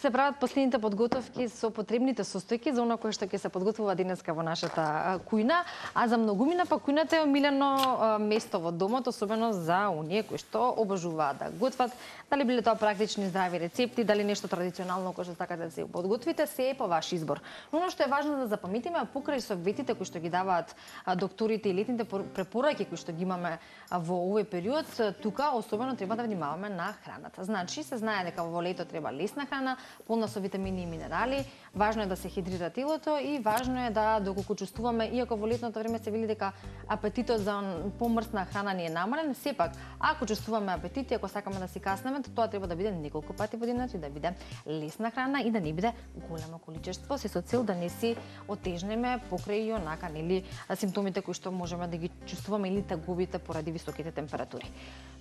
се прават последните подготовки со потребните состојки за она кое што ќе се подготвува денеска во нашата кујна, а за многумина па кујната е омилено место во домот, особено за оние кои што обожуваат да готват, дали биле тоа практични здрави рецепти, дали нешто традиционално кое што сакате да се подготвите, се е по ваш избор. Но оно што е важно да запамтиме, покрај советите кои што ги даваат докторите и летните препораки кои што ги имаме во овој период, тука особено треба да внимаваме на храната. Значи, се знае дека во лето треба лесна храна, полна со витамини и минерали, важно е да се хидрира телото и важно е да доколку чувствуваме, иако во летното време се вели дека апетитот за помрсна храна ни е намален, сепак ако чувствуваме апетит и ако сакаме да си каснеме, тоа треба да биде неколку пати во денот и да биде лесна храна и да не биде големо количество, се со цел да не си отежнеме покрај и онака нели симптомите кои што можеме да ги чувствуваме или тагубите поради високите температури.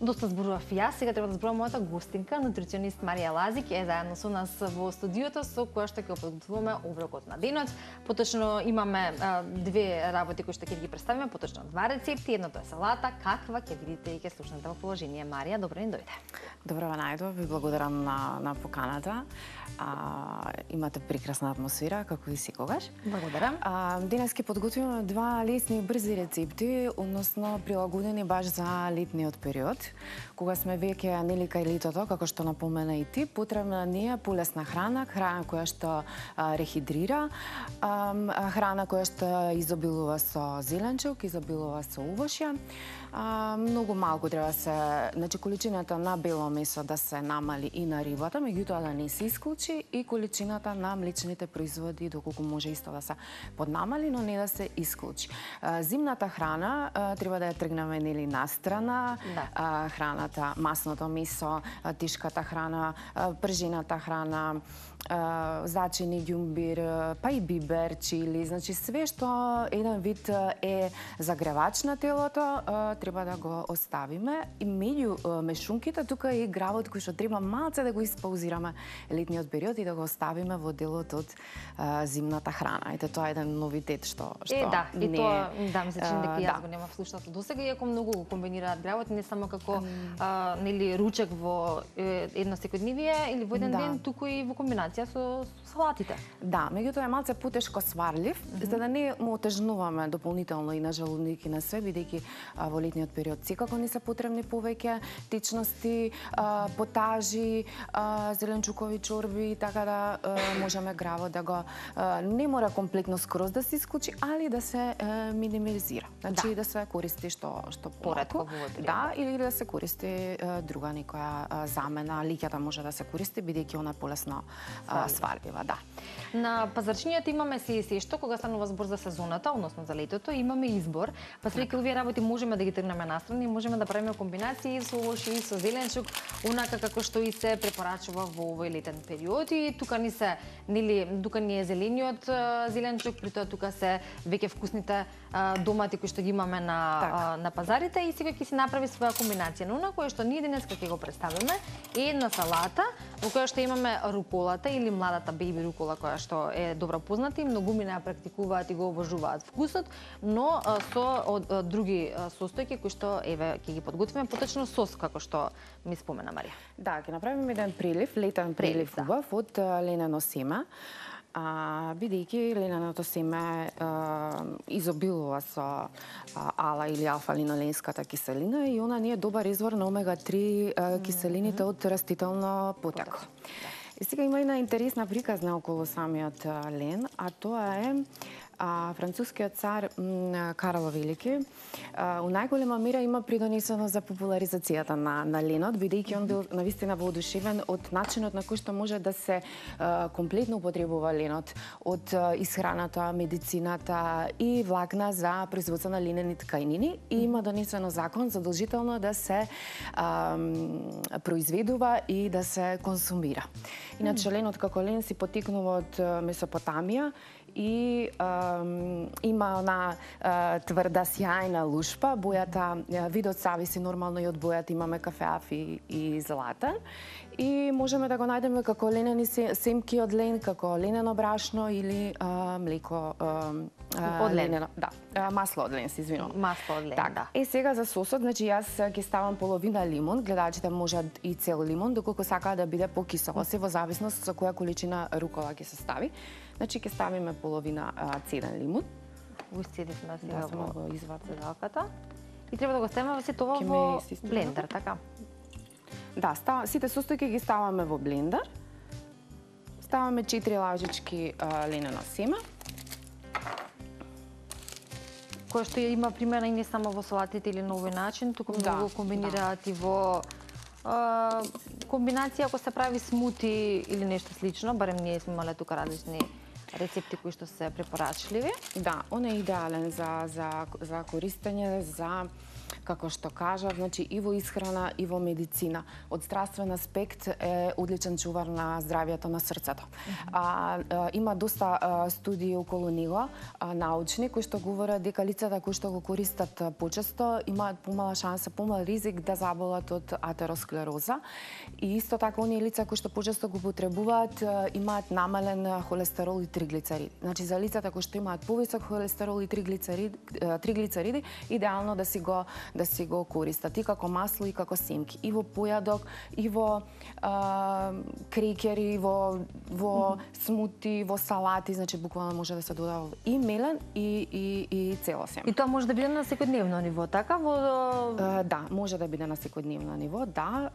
Доста зборував јас, сега треба да зборувам мојата гостинка, нутриционист Марија Лазик е заедно со нас во студиото со која што ќе подготвуваме оброкот на денот. Поточно имаме две работи кои што ќе ги представиме, поточно два рецепти, едното е салата, каква ќе видите и ќе слушнете во положение. Марија, добро ни дојде. Добро најдов, ви благодарам на поканата. Имате прекрасна атмосфера, како и секогаш. Благодарам. Денес ќе подготвиме два лесни и брзи рецепти, односно прилагодени баш за летниот период, кога сме веќе нели кај летото, како што напомена и ти, потребна ни е полесна храна, храна која што рехидрира, храна која што изобилува со зеленчук, изобилува со увошја. Многу малку треба се, значи количината на бело месо да се намали и на рибата, меѓутоа да не се исклучи и количината на млечните производи доколку може исто да се поднамали, но не да се исклучи. Зимната храна треба да ја тргнеме нели настрана, храната, масното месо, тешката храна, пржената храна, зачини, ѓумбир, па и бибер, чили, значи све што еден вид е загревач на телото, треба да го оставиме. И меѓу мешунките тука е и гравот кој што треба малце да го испаузираме летниот период и да го оставиме во делот од зимната храна. Ете тоа е еден новитет што да, и тоа ми се чини дека јас го немав слушнато досега, иако многу го комбинираат гравот не само како нели ручек во едно секојдневие или во еден ден, туку и во комбинација со салатите. Да, меѓутоа е малце потешко сварлив, за да не му отежнуваме дополнително и на желудник и на све, бидејќи во летниот период секако ни се потребни повеќе течности, потажи, зеленчукови чорби, така да можеме гравот да го не мора комплетно скроз да се исклучи, али да се минимизира. Значи да се користи што поретко. Да, или да се користи друга некоја замена, лиќата може да се користи бидејќи она полесно сварлива, да. На пазарчињата имаме се и што кога станува збор за сезоната, односно за летото, имаме избор. Па свеки овие работи можеме да ги тргнеме настрани, можеме да правиме комбинации со овошје и со зеленчук, онака како што и се препорачува во овој летен период. И тука ни се нели тука ни е зелениот зеленчук, притоа тука се веќе вкусните домати кои што ги имаме на пазарите и сега ќе си направи своја комбинација. Но она кое што ние денеска ќе го представиме е една салата во која што имаме руколата или младата бејби рукола која што е добро позната и многумина ја практикуваат и го обожуваат вкусот, но со други состојки кои што еве ќе ги подготвиме, поточно сос како што ми спомена Марија. Да, ќе направиме еден прилив, летен прилив убав од ленено семе. Бидејќи лененото семе изобилува со ала или алфа-линоленската киселина и она не е добар извор на омега-3 киселините од растително потекло. И сега има една интересна приказна околу самиот лен, а тоа е францускиот цар Карл Велики у најголема мера има придонесено за популаризацијата на ленот, бидејќи он бил навистина воодушевен од начинот на кој што може да се комплетно употребува ленот, од исхраната, медицината и влакна за производство на ленени ткајнини и има донесено закон задолжително да се произведува и да се консумира. Иначе ленот како лен си потекнува од Месопотамија и има она тврда сјајна лушпа, бојата, видот зависи нормално и од бојата, имаме кафеав и златен. и можеме да го најдеме како ленени семки од лен, како ленено брашно или млеко од лен. Да, масло од лен, се извинувам. Масло од лен, така, да. Сега за сосот, значи јас ќе ставам половина лимон, гледачите можат и цел лимон, доколку сакаат да биде покисело, се во зависност со која количина рукола ќе се стави. Значи ќе ставиме половина цеден лимон. Го исцедивме сега го извадам седалката. И треба да го ставиме сето тоа во блендер, така? Да, сите состојки ги ставаме во блендер. Ставаме 4 лажички ленено семе. Кој што ја има примена и не само во салатите или на овој начин, туку многу комбинираат и во комбинација ако се прави смути или нешто слично, барем ние сме имале тука различни рецепти кои што се препорачливи. Да, он е идеален за користење, за како што кажав, значи и во исхрана и во медицина. Од здравствен аспект е одличен чувар на здравјето на срцето. Има доста студии околу него, научни, кои што говорат дека лицата кои што го користат почесто имаат помала шанса, помал ризик да заболат од атеросклероза. И исто така оние лица кои што почесто го потребуваат имаат намален холестерол и триглицериди. Значи за лицата кои што имаат повисок холестерол и триглицериди, идеално да си го користат и како масло и како семки, и во појадок, и во крекери, во смути, во салати, значи буквално може да се додава и мелен и цело семе. И тоа може да биде на секојдневно ниво, така? Да, може да биде на секојдневно ниво, да.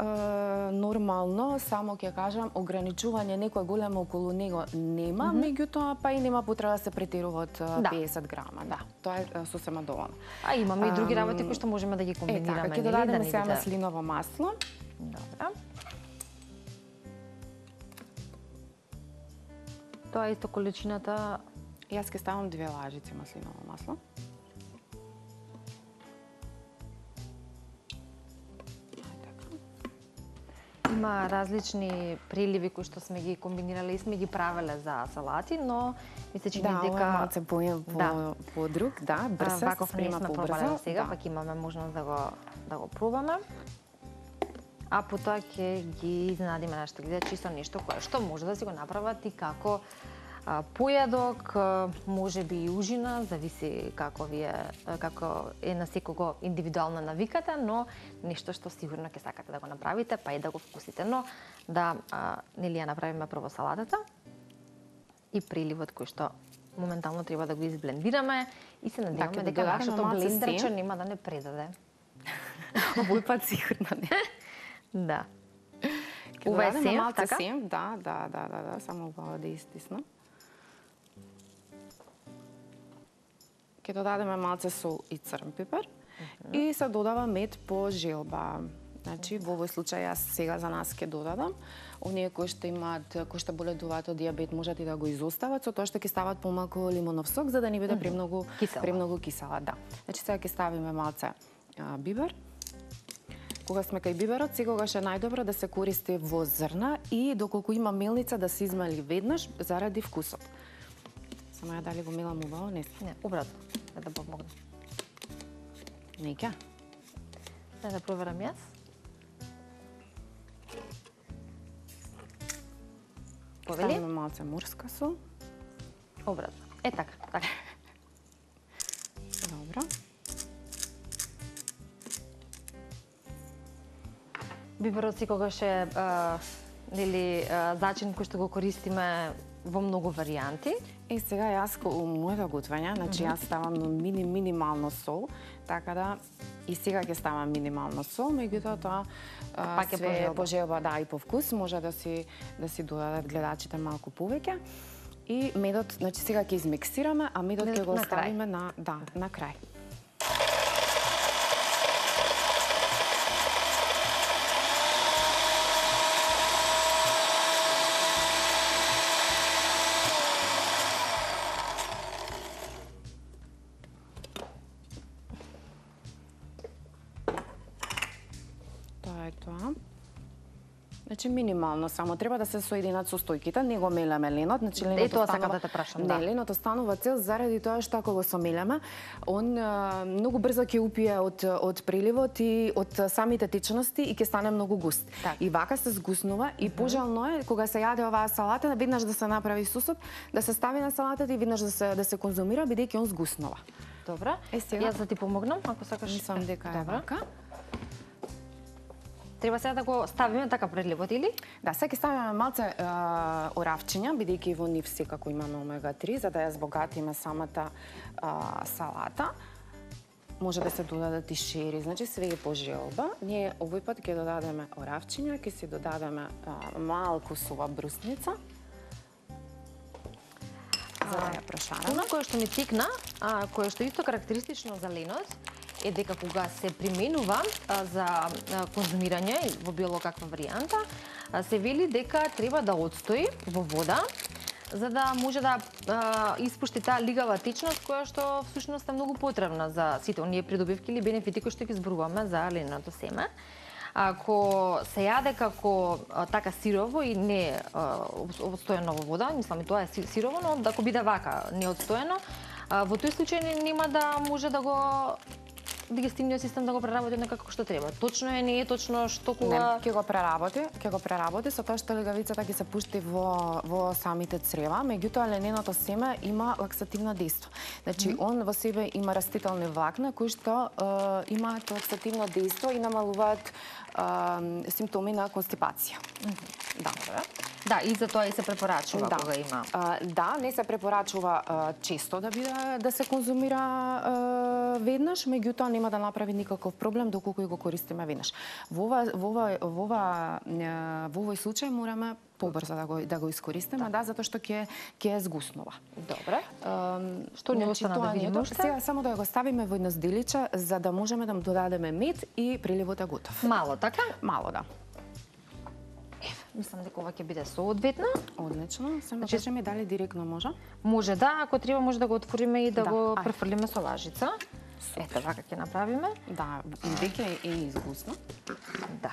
Нормално, само ќе кажам, ограничување некој големо околу него нема, меѓутоа па и нема потреба да се претерува од 50 грама, да. Тоа е сосема доволно. А имаме и други работи кои што можеме да ги комбинираме. Така, ќе додадеме сега маслиново масло. Добра. Тоа е исто количината. Јас ќе ставам 2 лажици маслиново масло. Има различни приливи кои што сме ги комбинирале и сме ги правеле за салати, но ми се чини дека да, малце по друг, да, брз се спрема побрзо. Сега пак имаме можност да го пробаме. А потоа ќе ги изненадиме нашите гледачи со нешто кое што може да си го направат и како појадок, можеби и ужина, зависи како е на секого индивидуална навиката, но нешто што сигурно ќе сакате да го направите, па и да го вкусите. Но да нели ја направиме прво салатата и приливот кој што моментално треба да го изблендираме и се надеваме дека нашето блендерче нема да не предаде. Овој пат сигурно не. Да. Ова е сем, така? Да, само да истисна. Ќе додадеме малце сол и црн пипер и се додава мед по желба. Значи, во овој случај јас сега за нас ќе додадам. Оние кои што боледуваат од дијабет можат и да го изостават, со тоа што ќе стават помалку лимонов сок за да не биде премногу кисела, да. Значи сега ќе ставиме малце бибер. Кога сме кај биберот, секогаш е најдобро да се користи во зрна и доколку има мелница да се измели веднаш заради вкусот. Само ја дали го мелам убаво, не? Не, обратно, да помогне. Нека. Да проверам јас. Повели? Ставиме малце морска сол. Обратно. Така. Добро. Биберот секогаш е зачин кој што го користиме во многу варијанти. И сега јас у моето готвење, значи јас ставам минимално сол, така да и сега ќе ставам минимално сол, меѓутоа тоа пак е по желба, да, и по вкус, може да си додадат гледачите малку повеќе. И медот, значи сега ќе измиксираме, а медот ќе го оставиме на крај. Значи минимално само треба да се соединат состојките, не го мелеме ленот, значи ленот тоа сакам да те прашам, да. Не, ленот останува цел заради тоа што ако го somелеме, он многу брзо ќе упие од преливот и од самите течности и ќе стане многу густ. Так. И вака се згуснува и пожелно е кога се јаде оваа салата, веднаш да се направи сусот, да се стави на салатата и веднаш да се конзумира бидејќи он згуснува. Добра. Сега Јас да ти помогнам, ако сакаш. мислам дека е вака. Треба сега да го ставиме така преливот или? Да, сега ќе ставиме малце оравчиња, бидејќи во нив секако имаме омега-3, за да ја збогатиме самата салата. Може да се додадат и шери, значи све е по желба. Ние овој пат ќе додадеме оравчиња, ќе си додадеме малку сува брусница. За да ја прошараме. Оно кое што ми тикна, кое што исто карактеристично за ленот, е дека кога се применува за конзумирање во било каква варијанта, се вели дека треба да отстои во вода, за да може да испушти таа лигава течност која што всушност е многу потребна за сите оние придобивки или бенефити кои што ги зборуваме за леното семе. Ако се јаде како така сирово и не отстоено во вода, мислам и тоа е сирово, но ако биде вака неотстоено, во тој случај нема да може да го дигестивниот систем да го преработи некако што треба. Точно е, не е точно што кога... Не, ќе го преработи со тоа што легавицата ќе се пушти во самите црева, меѓутоа лененото семе има лаксативно дејство. Значи, он во себе има растителни влакна кои што имаат лаксативно дејство и намалуваат симптоми на констипација. Да, и за тоа и се препорачува кога има. Да, не се препорачува често да се конзумира веднаш, меѓутоа нема да направи никаков проблем доколку и го користиме веднаш. Во овој случај мораме побрзо да го искористиме, да, затоа што ќе згуснува. Добре. Што ни остана да видиме уште? Сега само да го ставиме во едно зделиче за да можеме да му додадеме мед и приливот е готов. Мало, така? Мало, да. Мислам дека ова ќе биде соодветно. Одлично. Само кажи ми дали директно може? Може да, ако треба може да го отвориме и да го префрлиме со лажица. Ете, вака ќе направиме. Да, веќе е изгусно. Да.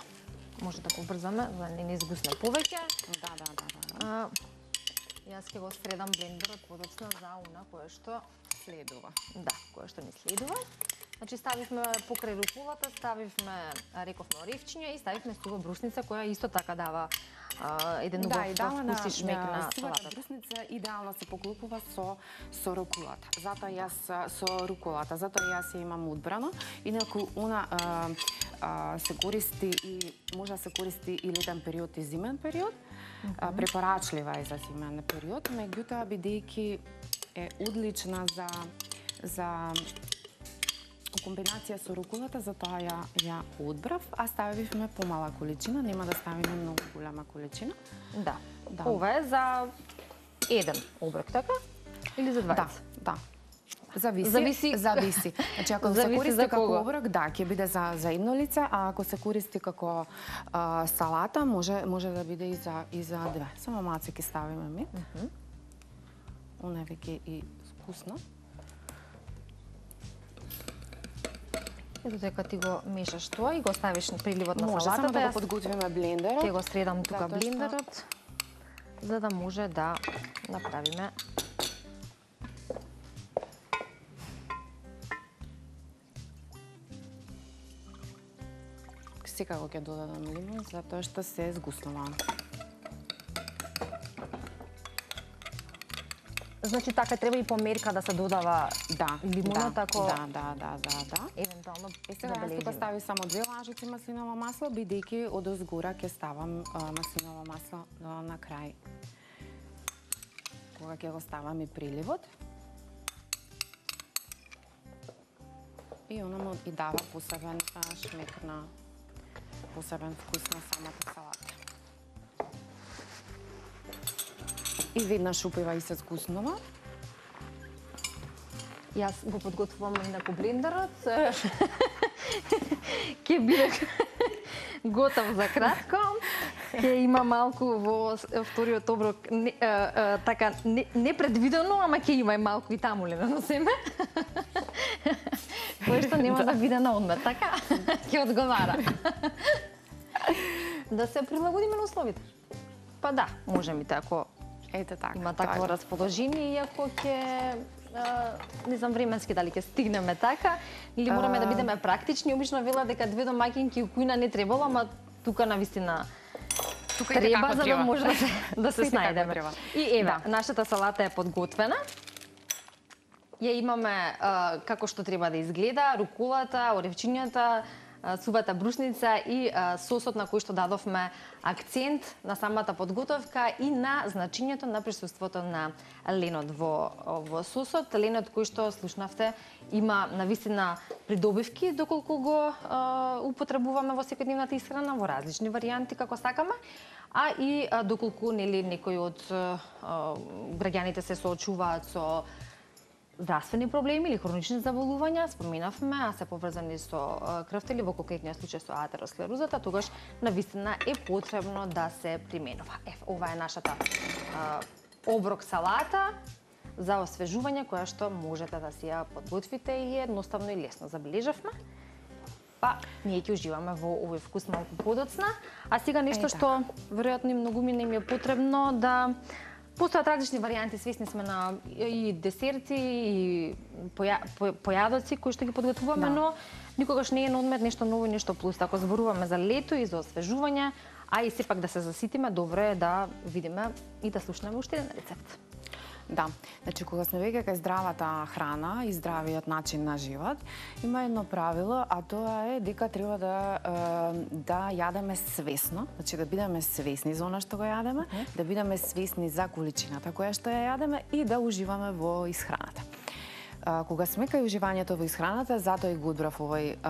Може да побрзаме, за да не изгусне повеќе. Да. Јас ќе го средам блендерот подоцна за она кое што следува. Да, кое што ни следува. Значи ставивме покрај руколата, ставивме рековме оревчиња и ставивме сува брусница која исто така дава еден убав вкус и шмек на салатата. Сувата брусница идеално се поклопува со руколата. Затоа јас ја имам одбрано. Инаку она се користи и може да се користи и летен период и зимен период. Препорачлива е за зимен период, меѓутоа бидејќи е одлична за комбинација со руколата, затоа ја одбрав, а ставивме помала количина, нема да ставиме многу голема количина. Да. Ова е за еден оброк, така? Или за 20? Да. Зависи. Значи, ако се користи како оброк, да, ќе биде за едно лице, а ако се користи како салата, може да биде и за две. Само малце ќе ставиме мед. Она е веќе и вкусно. Ето дека ти го мешаш тоа и го ставиш на приливот на салатата. Може само да го подготвиме блендерот. Ќе го средам тука блендерот, за да може да направиме секако ќе додадам лимон, затоа што се згуснува. Значи така треба и по мерка да се додава лимонот, ако... Да. Евентуално сега јас тука стави само 2 лажици маслиново масло, бидејќи одозгора ќе ставам маслиново масло на крај. Кога ќе го ставам и приливот. И она му и дава посебен шмек на посебен вкус на самата салата. И веднаш упива и се згуснува. Јас го подготвувам инаку блендерот. Ќе биде готов за кратко. Ќе има малку во вториот оброк така непредвидено, ама ќе има и малку и таму лено семе. Кој што нема да биде на одмер, така? Ќе одговара. да се прилагодиме на условите. Па да, можеме ако Ете така. има такво расположение, иако ќе не знам временски дали ќе стигнеме така, или мораме да бидеме практични. Обично велат дека две домаќинки кујна не требало, ама тука навистина треба за да може да се снајдеме. И еве, нашата салата е подготвена. Ја имаме како што треба да изгледа, руколата, оревчињата, сувата брушница и сосот на кој што дадовме акцент на самата подготовка и на значењето на присуството на ленот во сосот. Ленот кој што слушнавте има навистина придобивки доколку го употребуваме во секојдневната исхрана во различни варијанти како сакаме, а и доколку нели некои од граѓаните се соочуваат со здравствени проблеми или хронични заболувања, споменавме, а се поврзани со крвта или во конкретниот случај со атеросклерозата, тогаш навистина е потребно да се применува. Ова е нашата оброк салата за освежување која што можете да си ја подготвите и едноставно и лесно забележавме. Па, ние ќе уживаме во овој вкус малку подоцна, а сега нешто што веројатно и многумина им е потребно да постојат различни варијанти, свесни сме на и десерти и појадоци кои што ги подготвуваме, но никогаш не е на одмет нешто ново и нешто плюс. Ако зборуваме за лето и за освежување, а и сепак да се заситиме, добро е да видиме и да слушнеме уште еден рецепт. Да, значи кога сме веќе кај здравата храна и здравиот начин на живот, има едно правило, а тоа е дека треба да јадеме свесно, значи да бидеме свесни за она што го јадеме, да бидеме свесни за количината која што ја јадеме и да уживаме во исхраната. Кога сме кај уживањето во исхраната, затоа и го одбрав овој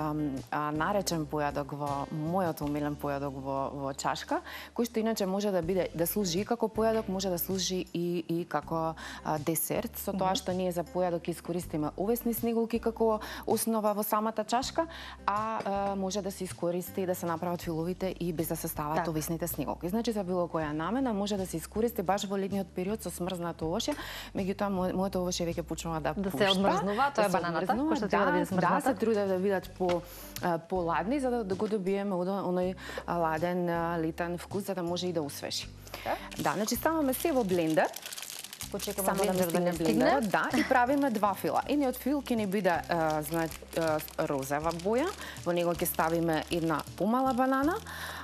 наречен појадок во мојот омилен појадок во чашка, кој што иначе може да биде да служи и како појадок, може да служи и како десерт, со тоа што ние за појадок искористиме овесни снеголки како основа во самата чашка, а може да се искористи да се направат филовите и без да се стават овесните снеголки. Значи за било која намена може да се искористи баш во летниот период со смрзнато овошје, меѓутоа моето овошје веќе почнува да пушта. Смрзнува, тоа е бананата, која што треба да биде смрзната. Да, се трудев да бидат поладни, за да го добиеме оној ладен, летен вкус, за да може и да усвежи. Да, значи ставаме се во блендер. Почекаме блендер да не стигне. Да, и правиме два фила. Едниот фил ќе ни биде розова боја, во него ќе ставиме една помала банана,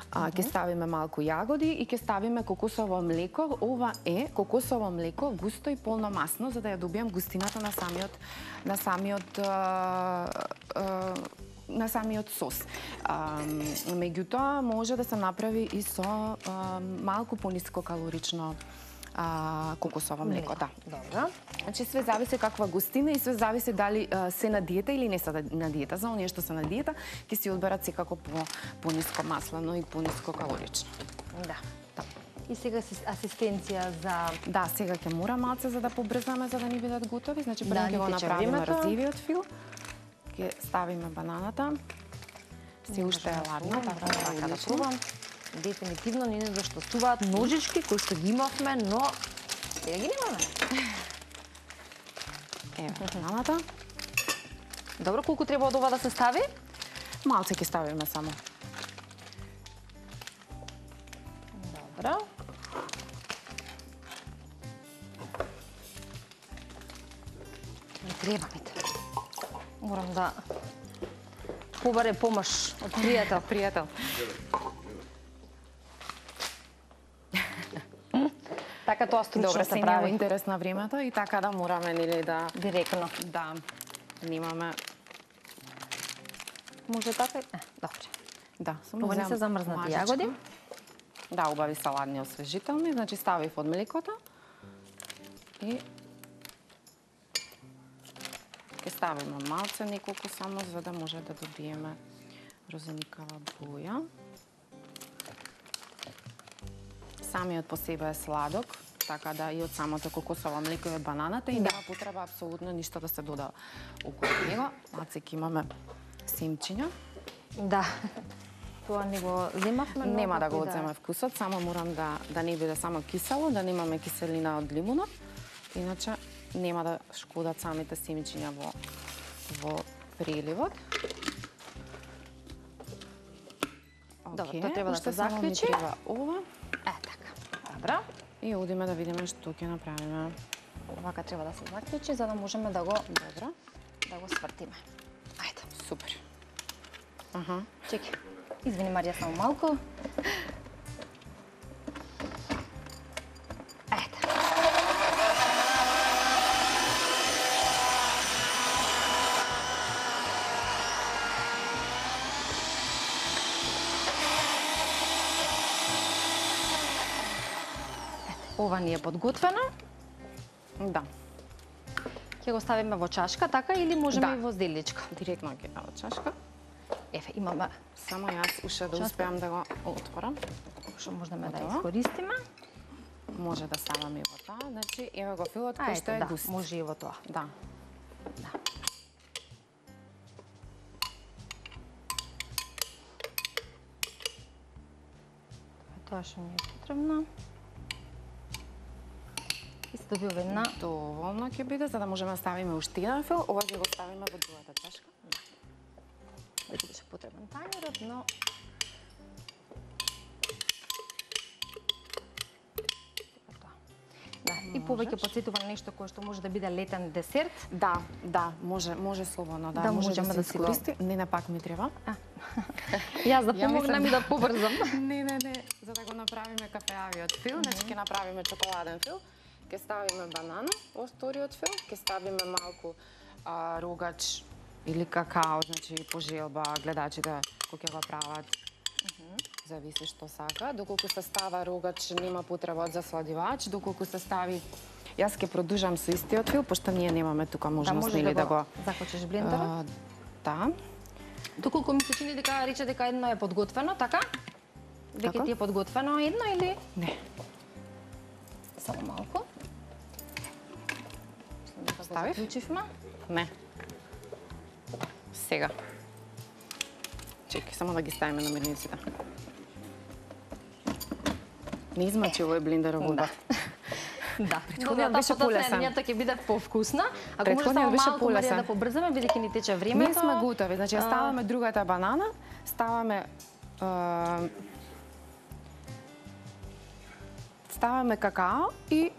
ќе ставиме малку јагоди и ќе ставиме кокосово млеко. Ова е кокосово млеко, густо и полно масно, за да ја добием густината на самиот сос. Меѓутоа може да се направи и со малку пониско калорично кокосово млеко, да. Добро. Значи све зависи каква густина и све зависи дали се на диета или не се на диета. За оние што се на диета, ќе си одберат секако пониско маслено и пониско калорично. Да. И сега асистенција за... Да, сега ќе мора малце за да побрзаме, за да ни бидат готови. Значи прво ќе го направиме розивиот фил. Ќе ставиме бананата. Се уште е ладна, така да пробам. Дефинитивно не недостасуваат ножички кои што ги имавме, но сега ги немаме. Еве, бананата. Добро, колку треба од ова да се стави? Малце ќе ставиме само. Добро. Не треба ми те. Морам да побаре помош од пријател. Така тоа стручно се прави. Интерес на времето и така да мораме нели да директно. Да. Немаме. Може така? Добре. Да, само не се замрзнати јагоди. Да, убави саладни освежителни, значи ставив од млекото и ќе ставиме малце неколку само за да може да добиеме розеникава боја. Самиот по себе е сладок, така да и од самото кокосово млеко и од бананата и нема потреба апсолутно ништо да се дода околу него. Малце ќе имаме семчиња. Да. Тоа не го земавме. Нема да го одземе вкусот, само морам да не биде само кисело, да немаме киселина од лимунот. Иначе нема да шкодат самите семчиња во преливот. Добро, тоа треба да се само ми заклучи. треба ова. Така. Добро. И одиме да видиме што ќе направиме. Овака треба да се заклучи за да можеме да го Добро. да го свртиме. Ајде. Супер. Аха. Чекај. Извини Марија, само малку. Ајде. Ова ни е подготвено. Да. Ќе го ставиме во чашка, така или можеме Да. и во зделичка? Директно ќе дава чашка. Еве, имаме Само јас уште да Чашка. успеам да го отворам. што можеме да Готово. искористиме. Може да ставаме и во тоа. Значи, еве го филот кој што Ајде, е да, густ. може и во тоа. Да. Да. Тоа што ни е потребно. И се добива една. Доволно ќе биде за да можеме да ставиме уште еден фил. Ова ќе го ставиме во другата чашка. Да бидеше потребен тањерот, но да, и повеќе потсетува на нешто кое што може да биде летен десерт. Да, може слободно, да, Да може можеме да се да си го- искористи. Не, пак ми треба. Јас да Ја помогнам мислам и да побрзам. Не, за да го направиме кафеавиот фил, значи ќе направиме чоколаден фил, ќе ставиме банана во вториот фил, ќе ставиме малку рогач или какао, значи по желба гледачите кој ќе го прават. Зависи што сака. Доколку се става рогач, нема потреба од засладивач, доколку се стави Јас ќе продолжам со истиот фил, пошто ние немаме тука можност можеш нели да го заклучиш блендерот. Да. Доколку ми се чини дека рече дека едно е подготвено, така? Дека Така. ти е подготвено едно или Не. само малку? Мислам дека го Ставив? заклучивме. Не. Сега. Чекай, само да ги ставиме на мирниците. Не измачи овој блендер вода. Да, Претходниот беше полесен. Следнијата ќе биде повкусна. Ако може Претходниот само беше малку Марија полесен. да побрзаме, бидејќи ни тече времето. Ние сме готови, значи ја ставаме другата банана, ставаме какао и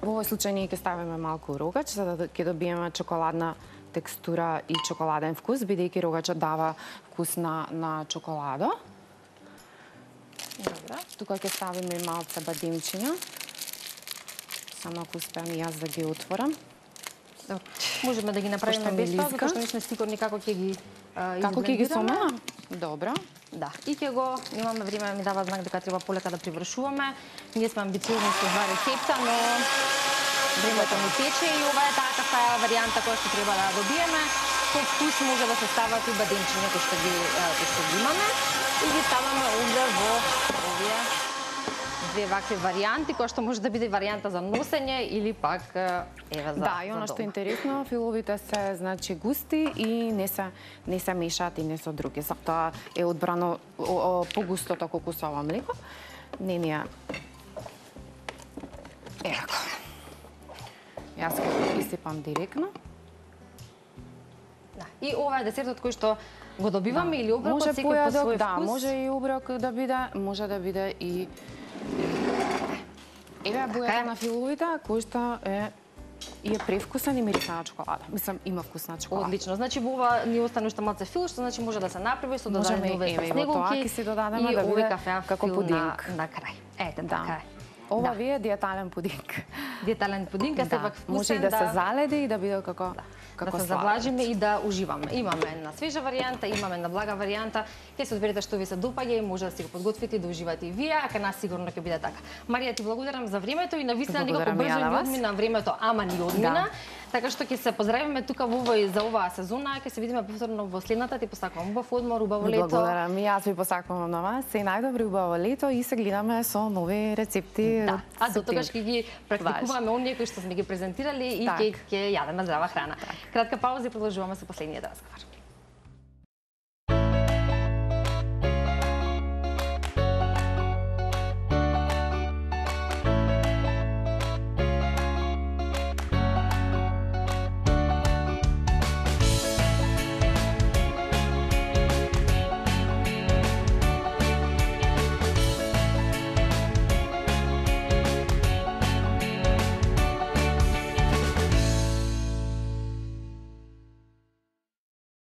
во овој случај ние ќе ставиме малку рогач за да ќе добиеме чоколадна текстура и чоколаден вкус, бидејќи рогачот дава вкус на чоколадо. Добро. Тука ќе ставиме и малце бадемчиња. Само ако успеам и јас да ги отворам. Добро. Можеме да ги направиме Пошто ми без тоа, лизга. затоа што не сме сигурни како ќе ги Како ќе ги изблендираме. сомелам? Добро. Да, и ќе го немаме време, ми дава знак дека треба полека да привршуваме. Ние сме амбициозни со ова рецепта, но времето ни тече и ова е таа кафеава варијанта која што треба да добиеме. Со вкус може да се стават и бадемчиња кои што ги имаме и ги ставаме овде во овие две вакви варијанти, која што може да биде варијанта за носење или пак еве за Да, и она што е интересно, филовите се значи густи и не се мешаат и не со други. Затоа е одбрано погустото кокусово млеко. Не ни ја Еко. Јас ќе го исипам директно. Да. И ова е десертот кој што го добиваме или оброкот Може секој по појадок, свој да, вкус. може и оброк да биде, може да биде и еве бојата на филовите кој што е превкусен и мириса на чоколада. Мислам, има вкус на чоколада. Одлично. Значи во ова ни остане уште малце фил, што значи може да се направи со Можеме, додадени овие еве, и во тоа снеговки ќе си додадеме и да овој биде кафеав како фил пудинг. на крај. Ете, Да. така е. Ова Да. ви е диетален пудинг. Диетален пудинг, а сепак вкусен, може и да се заледи и да биде како да се сладолед. завлажиме и да уживаме. Имаме една свежа варијанта, имаме една блага варијанта. Ќе се одберете што ви се допаѓа и може да си го подготвите и да уживате и вие, а кај нас сигурно ќе биде така. Марија, ти благодарам за времето и навистина некако Благодарам и ја брзо на ни вас. одмина времето, ама ни одмина. Да. Така што ќе се поздравиме тука во овој за оваа сезона, ќе се видиме повторно во следната. Ти посакувам убав одмор, убаво лето. Благодарам и јас ви посакувам на вас. Се најдобри убаво лето и се гледаме со нови рецепти. Да, од а до тогаш септември. ќе ги практикуваме оние кои што сме ги презентирали и Так. ќе јадеме здрава храна. Кратка пауза и продолжуваме со последниот разговор.